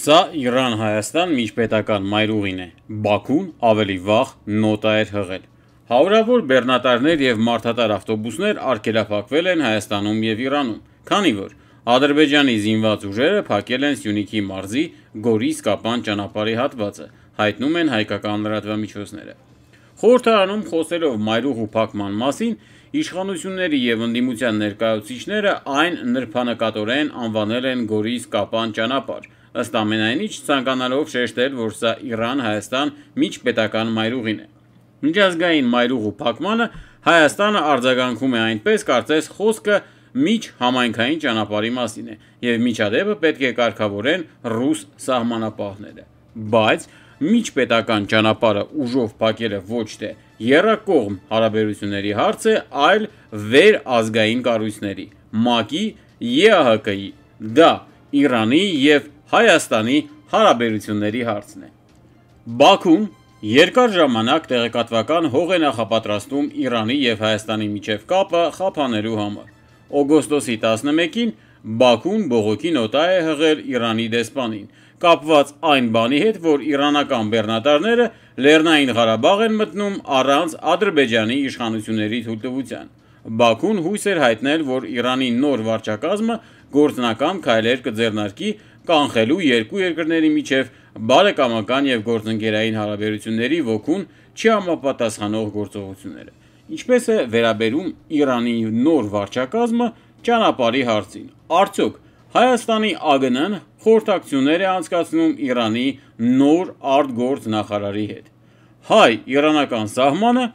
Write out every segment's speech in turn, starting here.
Սա Իրան-Հայաստան միջպետական մայրուղին է, Բաքուն ավելի վաղ նոտա էր հղել։ Հարյուրավոր բեռնատարներ և մարդատար ավտոբուսներ արգելափակվել են Հայաստանում և Իրանում, քանի որ Ադրբեջանի զինված ուժերը փակել են Սյունիքի մարզի Գորիս-Կապան ճանապարհի հատվածը, հայտնում են հայկական լրատվամիջոցները։ Խորհրդարանում խոսելով մայրուղու փակման մասին, իշխանությունների և ընդդիմության ներկայացուցիչները այն նրբանկատորեն անվանել են Գորիս-Կապան ճանապարհ, ըստ ամենայնի չցանկանալով շեշտել, որ սա Իրան-Հայաստան միջպետական մայրուղին է։ Միջազգային մայրուղու փակմանը Հայաստանը արձագանքում է այնպես, կարծես խոսքը միջհամայնքային ճանապարհի մասին է, և միջադեպը պետք է կարգավորեն ռուս սահմանապահները։ Բայց միջպետական ճանապարհը ուժով փակելը ոչ թե եռակողմ հարաբերությունների հարց է, այլ վերազգային կառույցների՝ ՄԱԿ-ի, ԵԱՀԿ-ի, դա Իրանի և Հայաստանի հարաբերությունների հարցն է։ Բաքուն երկար ժամանակ տեղեկատվական հող է նախապատրաստում Իրանի և Հայաստանի միջև կապը խափանելու համար։ Օգոստոսի 11-ին Բաքուն բողոքի նոտա է հղել Իրանի դեսպանին, կապված այն բանի հետ, որ իրանական բեռնատարները Լեռնային Ղարաբաղ են մտնում առանց Ադրբեջանի իշխանությունների թույլտվության։ Բաքուն հույս էր հայտնել, որ Իրանի նոր վարչակազմը գործնական քայլեր կձեռնարկի կանխելու երկու երկրների միջև բարեկամական և գործընկերային հարաբերությունների ոգուն չհամապատասխանող գործողությունները։ Ինչպես է վերաբերում Իրանի նոր վարչակազմը ճանապարհի հարցին, արդյոք Հայաստանի ԱԳՆ-ն խորհրդակցություններ է անցկացնում Իրանի նոր արտգործ նախարարի հետ։ Հայ-իրանական սահմանը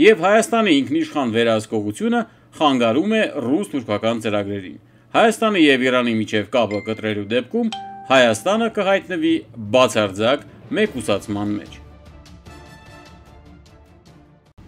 և Հայաստանի ինքնիշխան վերահսկողությունը խանգարում է ռուս-թուրքական ծրագրերին։ Հայաստանի և Իրանի միջև կապը կտրելու դեպքում Հայաստանը կհայտնվի բացարձակ մեկուսացման մեջ։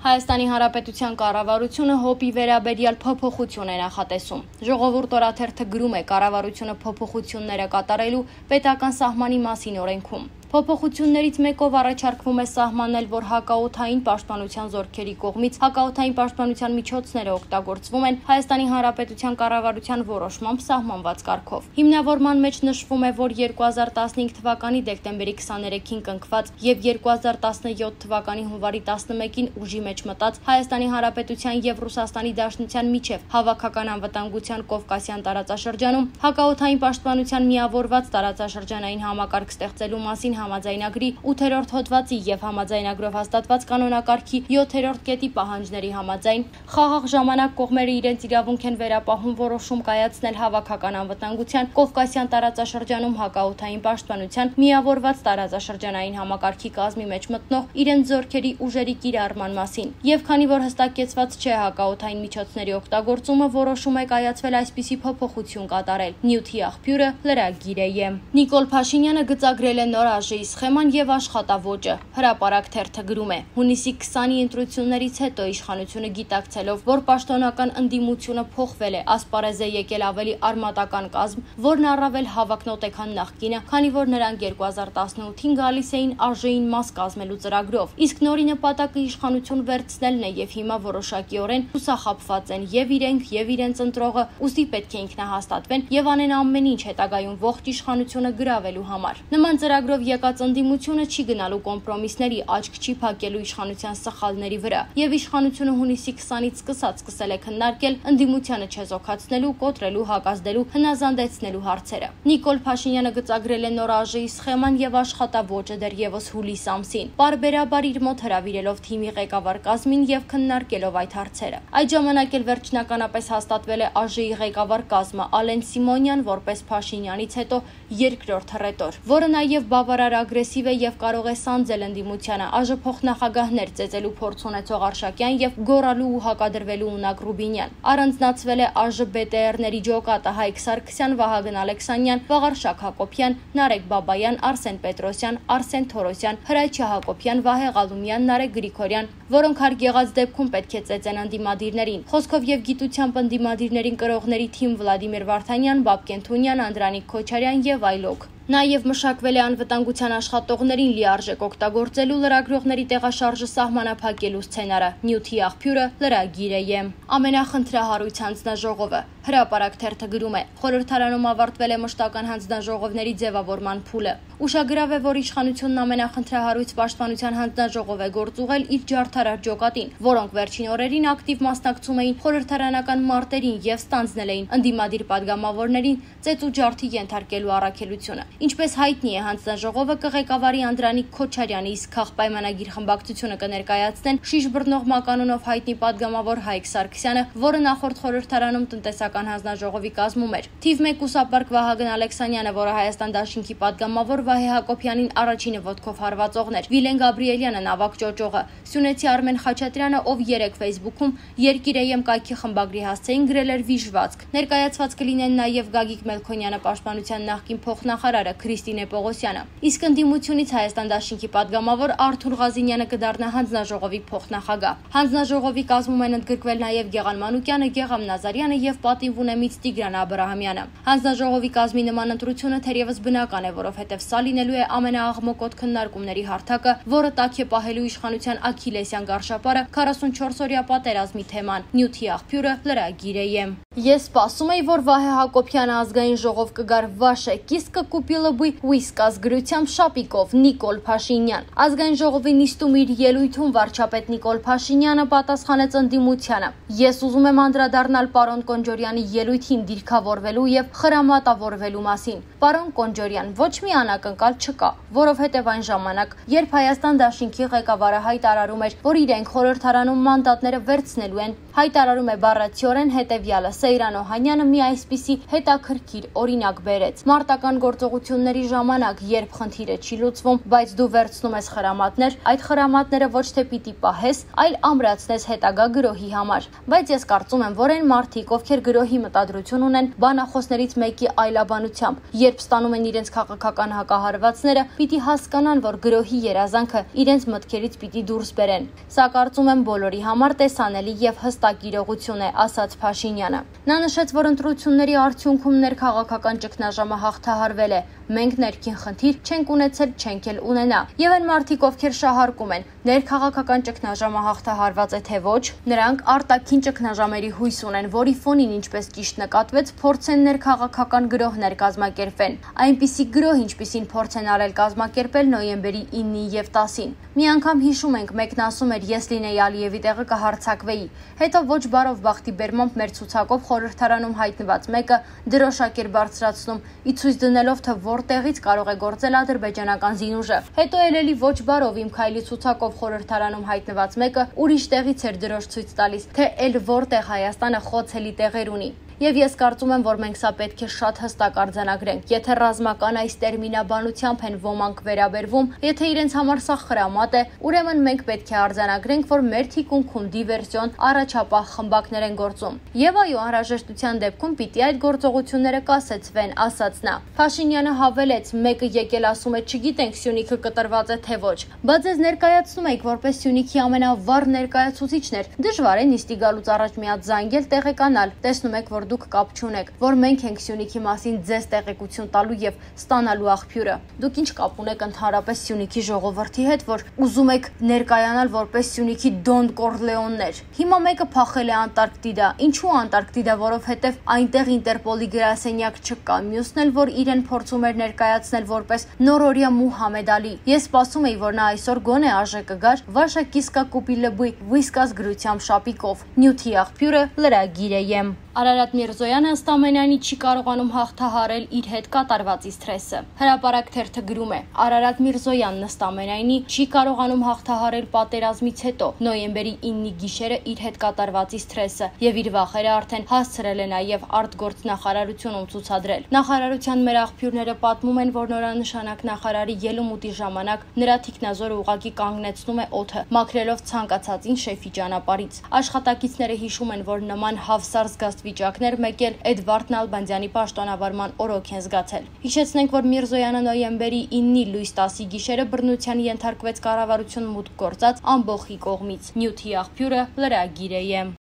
Հայաստանի Հանրապետության կառավարությունը ՀՕՊ-ի վերաբերյալ փոփոխություն է նախատեսում։ Ժողովուրդ օրաթերթը գրում է կառավարությունը փոփոխությունները կատարելու պետական սահմանի մասին օրենքում։ Փոփոխություններից մեկով առաջարկվում է սահմանել, որ հակաօդային պաշտպանության զորքերի կողմից հակաօդային պաշտպանության միջոցները օգտագործվում են Հայաստանի Հանրապետության կառավարության որոշմամբ սահմանված կարգով։ Հիմնավորման մեջ նշվում է, որ 2015 թվականի դեկտեմբերի 23-ին կնքված և 2017 թվականի հունվարի 11-ին ուժի մեջ մտած Հայաստանի Հանրապետության և Ռուսաստանի Դաշնության միջև հավաքական անվտանգության Կովկասյան տարածաշրջանում հակաօդային պաշտպանության միավորված տարածաշրջանային համակարգ ստեղծելու մասին համաձայնագրի 8-րդ հոդվածի և համաձայնագրով հաստատված կանոնակարգի 7-րդ կետի պահանջների համաձայն խաղաղ ժամանակ կողմերը իրենց իրավունք են վերապահում որոշում կայացնել հավաքական անվտանգության Կովկասյան տարածաշրջանում հակաօդային պաշտպանության միավորված տարածաշրջանային համակարգի կազմի մեջ մտնող իրենց զորքերի ուժերի կիրառման մասին, և քանի որ հստակեցված չէ հակաօդային միջոցների օգտագործումը, որոշում է կայացվել այսպիսի փոփոխություն կատարել։ Նյութի աղբյուրը լրագիր է։ Նիկոլ Փաշինյանը գծագրել է նոր ԱԺ-ի սխեման և աշխատավոճը։ Հրապարակ թերթը գրում է. հունիսի 20-ի ընտրություններից հետո իշխանությունը գիտակցելով, որ պաշտոնական ընդդիմությունը փոխվել է, ասպարեզ է եկել ավելի արմատական կազմ, որն առավել հավակնոտ է, քան նախկինը, քանի որ նրանք 2018-ին գալիս էին ԱԺ-ին մաս կազմելու ծրագրով, իսկ նորի նպատակը իշխանություն վերցնելն է, և հիմա որոշակիորեն հուսախաբված են և իրենք, և իրենց ընտրողը, ուստի պետք է ինքնահաստատվեն և անեն ամեն ինչ հետագայում ողջ իշխանությունը գրավելու համար։ Նման ծրագրով եկած ընդդիմությունը չի գնալու կոմպրոմիսների, աչք չի փակելու իշխանության սխալների վրա, և իշխանությունը հունիսի 20-ից սկսել է քննարկել ընդդիմությանը չեզոքացնելու, կոտրելու, հակազդելու, հնազանդեցնելու հարցերը։ Նիկոլ Փաշինյանը գծագրել է նոր ԱԺ-ի սխեման և աշխատավոճը դեռևս հուլիս ամսին, պարբերաբար իր մոտ հրավիրելով թիմի ղեկավար կազմին և քննարկելով այդ հարցերը։ Այդ ժամանակ էլ վերջնականապես հաստատվել է ԱԺ-ի ղեկավար կազմը Ալեն Սիմոնյան որպես Փաշինյանից հետո երկրորդ հռետոր, որը նաև բավարար ագրեսիվ է և կարող է սանձել ընդդիմությանը, ԱԺ փոխնախագահներ ծեծելու փորձ ունեցող Արշակյան և գոռալու ու հակադրվելու ունակ Ռուբինյան։ Առանձնացվել է ԱԺ ԲՏՌ-ների ջոկատը Հայկ Սարգսյան, Վահագն Ալեքսանյան, Վաղարշակ Հակոբյան, Նարեկ Բաբայան, Արսեն Պետրոսյան, Արսեն Թորոսյան, Հրաչյա Հակոբյան, Վահե Ղալումյան, Նարեկ Գրիգորյան, որոնք հարկ եղած դեպքում պետք է ծեծեն ընդդիմադիրներին։ Խոսքով և գիտությամբ ընդդիմադիրներին կրողների թիմ Վլադիմիր Վարդանյան, Բաբկեն Թունյան, Անդրանիկ Քոչարյան և այլոք։ Նաև մշակվել է անվտանգության աշխատողներին լիարժեք օգտագործելու լրագրողների տեղաշարժը սահմանափակելու սցենարը։ Նյութի աղբյուրը լրագիր է։ Ամենախնդրահարույց հանձնաժողովը։ Հրապարակ թերթը գրում է. խորհրդարանում ավարտվել է մշտական հանձնաժողովների ձևավորման փուլը։ Ուշագրավ է, որ իշխանությունն ամենախնդրահարույց պաշտպանության հանձնաժողով է գործուղել իր ջարդարար ջոկատին, որոնք վերջին օրերին ակտիվ մասնակցում էին խորհրդարանական մարտերին եւ ստանձնել էին ընդդիմադիր падգամավորներին ծեծու ջարդի ենթարկելու առաքելությունը։ Ինչպես հայտնի է, հանձնաժողովը կղեկավարի Անդրանիկ Քոչարյանի իսկ քաղաքպայմանագիր խմբակցությունը կներկայացնեն շիշ բռնող մականունով հայտնի падգամավոր Հայկ Սարգսյանը, որը նախորդ խորհրդարանում տնտեսական հանձնաժողովի կազմում էր։ Թիվ 1 ուսապարկ Վահագն Ալեքսանյանը, որը Հայաստան դաշինքի падգամավոր Վահե Հակոբյանին առաջինը ոտքով հարվածողն էր, Վիլեն Գաբրիելյանը նավակ ճոճողը, Սյունեցի Արմեն Խաչատրյանը, ով 3 Facebook-ում Երկիր.am կայքի խմբագրի հասցեին գրել էր վիժվածք։ Ներկայացված կլինեն նաև Գագիկ Մելքոնյանը, պաշտպանության նախկին փոխնախարարը Քրիստինե Պողոսյանը։ Իսկ ընդդիմությունից Հայաստան դաշինքի падգամավոր Արթուր Ղազինյանը կդառնա հանձնաժողովի փոխնախագահ։ Հանձնաժողովի կազմում են ընդգրկվել նաև Գեղամ Մանուկյանը, Գեղամ Նազարյանը եւ պատիվ ունեմից Տիգրան Աբրահամյանը։ Հանձնաժողովի կազմի նման ընտրությունը թերևս բնական է, որովհետեւ սա լինելու է ամենաաղմկոտ քննարկումների հարթակը, որը տաք է պահելու իշխանության Աքիլեսյան գարշապարը 44-օրյա պատերազմի թեման։ Նյութի աղբյուրը լրագիր.am։ Ես սպասում էի, որ Վահե Հակոբյանը ազգային ժողով կգար Վաշե կիսկը կուպիլը բույ Ուիսկաս գրությամբ շապիկով Նիկոլ Փաշինյան։ Ազգային ժողովի նիստում իր ելույթում վարչապետ Նիկոլ Փաշինյանը պատասխանեց ընդդիմությանը. Ես ուզում եմ անդրադառնալ պարոն Կոնջորյանի ելույթին դիրքավորվելու եւ խրամատավորվելու մասին։ Պարոն Կոնջորյան, ոչ մի անակնկալ չկա, որովհետեւ այն ժամանակ, երբ Հայաստան դաշինքի ղեկավարը հայտարարում էր, որ իրենք խորհրդարանում մանդատները վերցնելու են, հայտարարում է բառացիորեն հետեւյալը. Սեյրան Օհանյանը մի այսպիսի հետաքրքիր օրինակ բերեց. մարտական գործողությունների ժամանակ, երբ խնդիրը չի լուծվում, բայց դու վերցնում ես խրամատներ, այդ խրամատները ոչ թե պիտի պահես, այլ ամրացնես հետագա գրոհի համար։ Բայց ես կարծում եմ, որ այն մարդիկ, ովքեր գրոհի մտադրություն ունեն, բանախոսներից մեկի այլաբանությամբ, երբ ստանում են իրենց քաղաքական հակահարվածները, պիտի հասկանան, որ գրոհի երազանքը իրենց մտքերից պիտի դուրս բերեն։ Սա կարծում եմ բոլորի համար տեսանելի եւ հստակ իրողություն է, ասաց Փաշինյանը։ Նա նշեց, որ ընտրությունների արդյունքում ներքաղաքական ճգնաժամը հաղթահարվել է։ Մենք ներքին խնդիր չենք ունեցել, չենք էլ ունենա։ Եվ այն մարդիկ, ովքեր շահարկում են, ներքաղաքական ճգնաժամը հաղթահարված է թե ոչ, նրանք արտաքին ճգնաժամերի հույս ունեն, որի ֆոնին, ինչպես ճիշտ նկատվեց, փորձեն ներքաղաքական գրոհներ կազմակերպեն։ Այնպիսի գրոհ, ինչպիսին փորձ են արել կազմակերպել նոյեմբերի 9-ին եւ 10-ին։ Մի անգամ հիշում ենք, մեկն ասում էր, ես լինեի Ալիևի տեղը կհարցակվեի։ Հետո ոչ բարով բախտի բերմամբ մեր ցուցակով խորհրդարանում հայտնված մեկը դրոշակ էր բարձրացնում, ի ցույց դնելով, թե որտեղից կարող է գործել ադրբեջանական զինուժը։ Հետո էլի ոչ բարով իմ քայլի ցուցակով խորհրդարանում հայտնված մեկը ուրիշ տեղից էր դրոշ ցույց տալիս, թե էլ որտեղ Հայաստանը խոցելի տեղեր ունի։ Եվ ես կարծում եմ, որ մենք սա պետք է շատ հստակ արձանագրենք։ Եթե ռազմական այս տերմինաբանությամբ են ոմանք վերաբերվում, եթե իրենց համար սա խրամատ է, ուրեմն մենք պետք է արձանագրենք, որ մեր թիկունքում դիվերսիոն առաջապահ խմբակներ են գործում։ Եվ այո, անհրաժեշտության դեպքում պիտի այդ գործողությունները կասեցվեն, ասաց նա։ Փաշինյանը հավելեց. մեկը եկել ասում է, չգիտենք Սյունիքը կտրված է թե ոչ, բայց ես ներկայացնում եք որպես Սյունիքի ամենավառ ներկայացուցիչներ։ Դժվար է նիստի գալուց առաջ մի հատ զանգել տեղեկանալ։ Տեսնում եք, որ դուք կապ չունեք, որ մենք ենք Սյունիքի մասին ձեզ տեղեկություն տալու եւ ստանալու աղբյուրը։ Դուք ինչ կապ ունեք ընդհանրապես Սյունիքի ժողովրդի հետ, որ ուզում եք ներկայանալ որպես Սյունիքի Դոն Կորլեոններ։ Հիմա մեկը փախել է Անտարկտիդա։ Ինչու Անտարկտիդա, որովհետեւ այնտեղ Ինտերպոլի գրասենյակ չկա։ Մյուսն էլ, որ իրեն փորձում էր ներկայացնել որպես նորօրյա Մուհամեդ Ալի։ Ես սպասում էի, որ նա այսօր գոնե ԱԺ կգար Վաշա կիսկա կուպիլը բույ Ուիսկաս գրությամբ շապիկով։ Նյութի աղբյուրը լրագիր.am։ Արարատ Միրզոյանը ըստ ամենայնի չի կարողանում հաղթահարել իր հետ կատարվածի սթրեսը։ Հրապարակ թերթը գրում է. Արարատ Միրզոյանն ըստ ամենայնի չի կարողանում հաղթահարել պատերազմից հետո նոյեմբերի 9-ի գիշերը իր հետ կատարվածի սթրեսը եւ իր վախերը արդեն հասցրել է նաեւ արտգործնախարարությունում ցուցադրել։ Նախարարության մեր աղբյուրները պատմում են, որ նորանշանակ նախարարի ելումուտի ժամանակ նրա թիկնազորը ուղակի կանգնեցնում է օդը, մաքրելով ցանկացածին շեֆի ճանապարհից։ Աշխատակիցները հիշում են, որ նման հավսար վիճակներ մեկ էլ Էդվարդ Նալբանդյանի պաշտոնավարման օրոք են զգացել։ Հիշեցնենք, որ Միրզոյանը նոյեմբերի 9-ի լույս 10-ի գիշերը բռնության ենթարկվեց կառավարություն մուտք գործած ամբոխի կողմից։ Նյութի աղբյուրը լրագիր.am։